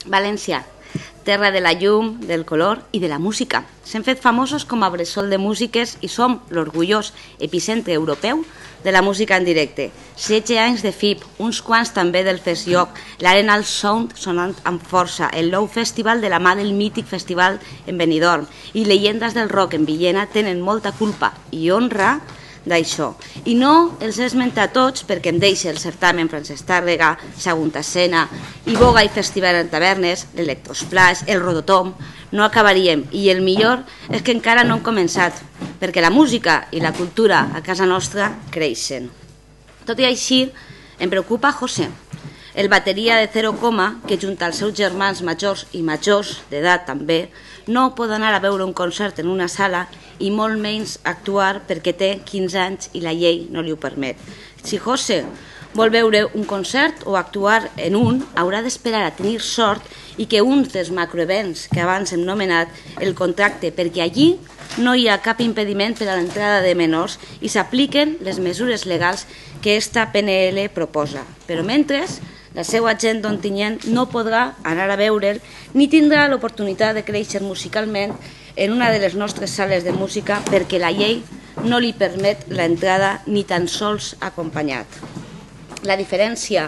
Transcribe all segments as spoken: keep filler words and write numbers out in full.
València, terra de la llum, del color i de la música. S'hem fet famosos com a bressol de músiques i som l'orgullós epicentre europeu de la música en directe. setze anys de F I P, uns quants també del Festjoc, l'Arenal Sound sonant amb força, el Nou Festival de la mà del mític festival en Benidorm i Llegendes del Rock en Villena tenen molta culpa i honra d'això. I no els he esmentat tots perquè em deixa el certamen Francesc Tàrrega, Segunda Escena, i Boga i Festival en Tavernes, l'Electrosplash, el Rototom, no acabaríem. I el millor és que encara no hem començat, perquè la música i la cultura a casa nostra creixen. Tot i així, em preocupa José, el bateria de Zero Coma, que junt als seus germans majors i majors d'edat també, no pot anar a veure un concert en una sala i molt menys actuar perquè té quinze anys i la llei no li ho permet. Si José vol veure un concert o actuar en un, haurà d'esperar a tenir sort i que un dels macroevents que abans hem nomenat el contracte, perquè allí no hi ha cap impediment per a l'entrada de menors i s'apliquen les mesures legals que esta P N L proposa. Però mentre, la seva gent d'Ontinyent no podrà anar a veure'l ni tindrà l'oportunitat de créixer musicalment en una de les nostres sales de música perquè la llei no li permet l'entrada ni tan sols acompanyat. La diferència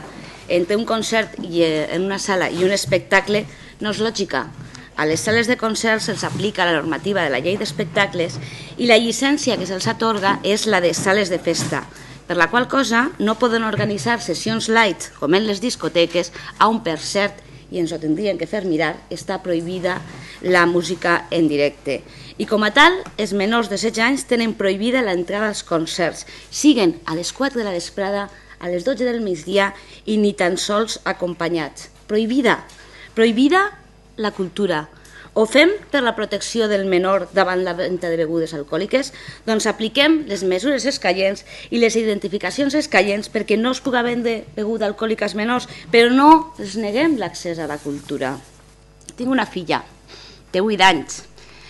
entre un concert en una sala i un espectacle no és lògica. A les sales de concerts se'ls aplica la normativa de la llei d'espectacles i la llicència que se'ls atorga és la de sales de festa, per la qual cosa no poden organitzar sessions light, com en les discoteques, on per cert, i ens ho tindrien que fer mirar, està prohibida la música en directe. I com a tal, els menors de setze anys tenen prohibida l'entrada als concerts, siguen a les quatre de la vesprada, a les dotze del migdia i ni tan sols acompanyats. Prohibida. Prohibida la cultura. Ho fem per la protecció del menor davant la venda de begudes alcohòliques? Doncs apliquem les mesures escaients i les identificacions escaients perquè no es pugui vendre beguda alcohòlica als menors, però no els neguem l'accés a la cultura. Tinc una filla, té vuit anys,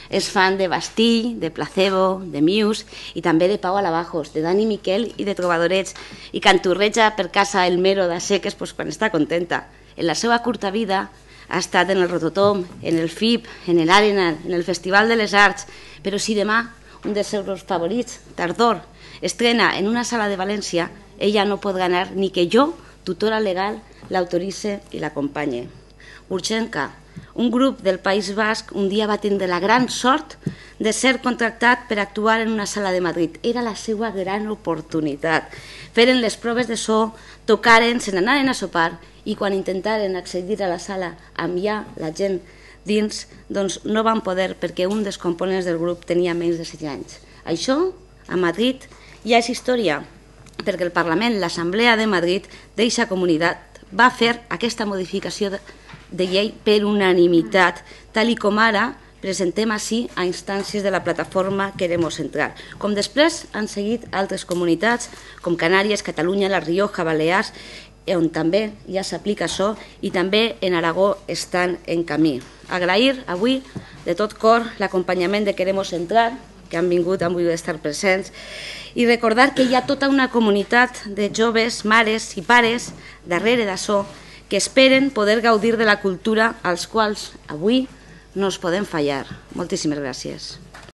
és fan de Bastille, de Placebo, de Muse i també de Pau Alabajos, de Dani Miquel i de Trobadorets, i canturreja per casa el Mero de Seques quan està contenta. En la seva curta vida ha estat en el Rototom, en el F I P, en l'Arenal, en el Festival de les Arts, però si demà un dels seus favorits, Tardor, estrena en una sala de València, ella no podrà anar ni que jo, tutora legal, l'autoritze i l'acompanye. Urgenca, un grup del País Basc, un dia va tindre la gran sort de ser contractat per actuar en una sala de Madrid. Era la seva gran oportunitat. Feren les proves de so, tocaren, se n'anaren a sopar i quan intentaren accedir a la sala amb ja la gent dins, doncs no van poder perquè un dels components del grup tenia menys de setze anys. Això, a Madrid, ja és història, perquè el Parlament, l'Assemblea de Madrid, d'eixa comunitat, va fer aquesta modificació de llei per unanimitat, tal i com ara presentem així a instàncies de la plataforma Queremos Entrar. Com després han seguit altres comunitats, com Canàries, Catalunya, La Rioja, Balears, on també ja s'aplica això i també en Aragó estan en camí. Agrair avui de tot cor l'acompanyament de Queremos Entrar, que han vingut, han volgut estar presents, i recordar que hi ha tota una comunitat de joves, mares i pares darrere d'això que esperen poder gaudir de la cultura als quals avui no es podem fallar. Moltíssimes gràcies.